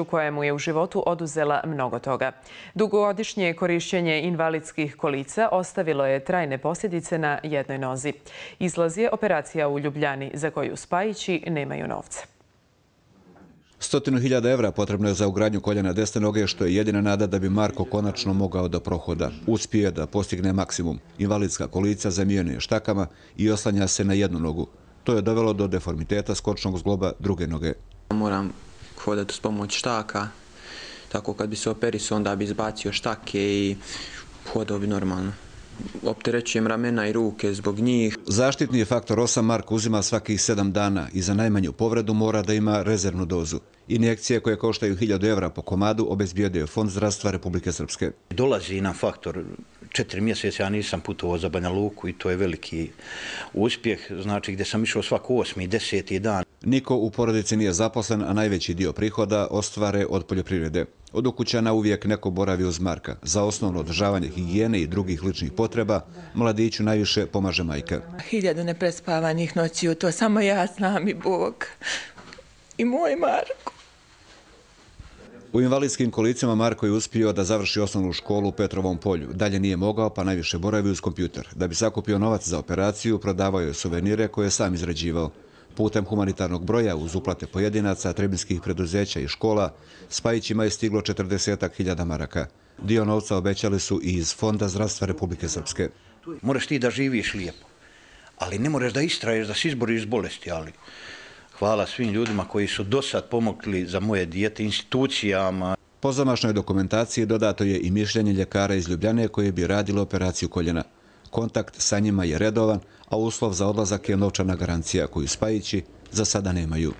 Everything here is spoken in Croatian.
koja mu je u životu oduzela mnogo toga. Dugogodišnje korišćenje invalidskih kolica ostavilo je trajne posljedice na jednoj nozi. Izlaz je operacija u Ljubljani za koju Spajići nemaju novca. 100.000 evra potrebno je za ugradnju koljena desne noge, što je jedina nada da bi Marko konačno mogao da prohoda. Uspije da postigne maksimum. Invalidska kolica zamijena je štakama i oslanja se na jednu nogu. To je dovelo do deformiteta skočnog zgloba druge noge. Moram hodati s pomoć štaka, tako kad bi se operisao onda bi izbacio štake i hodao bi normalno. Opterećujem ramena i ruke zbog njih. Zaštitni faktor 8 Marko uzima svakih 7 dana i za najmanju povredu mora da ima rezervnu dozu. Injekcije koje koštaju 1.000 evra po komadu obezbijedio Fond zdravstva Republike Srpske. Dolazi nam faktor 4 mjeseca, ja nisam putovao za Banja Luku i to je veliki uspjeh, znači gdje sam išao svaki 8. i 10. dan. Niko u porodici nije zaposlen, a najveći dio prihoda ostvare od poljoprivrede. Od ukućana uvijek neko boravi uz Marka. Za osnovno održavanje higijene i drugih ličnih potreba mladiću najviše pomaže majka. 1000 neprespavanih noći, to samo ja znam i Bog. I moj Marko. U invalidskim kolicima Marko je uspio da završi osnovnu školu u Petrovom polju. Dalje nije mogao, pa najviše boravi uz kompjuter. Da bi sakupio novac za operaciju, prodavao je suvenire koje je sam izrađivao. Putem humanitarnog broja uz uplate pojedinaca, trebinskih preduzeća i škola, Spajićima je stiglo 40.000 maraka. Dio novca obećali su i iz Fonda zdravstva Republike Srpske. Moraš ti da živiš lijepo, ali ne moraš da istraješ, da se izboriš s bolesti, ali hvala svim ljudima koji su do sad pomogli za moje dijete, institucijama. Po zamašnoj dokumentaciji dodato je i mišljenje ljekara iz Ljubljane koje bi radilo operaciju koljena. Kontakt sa njima je redovan, a uslov za odlazak je novčana garancija koju Spajići za sada nemaju.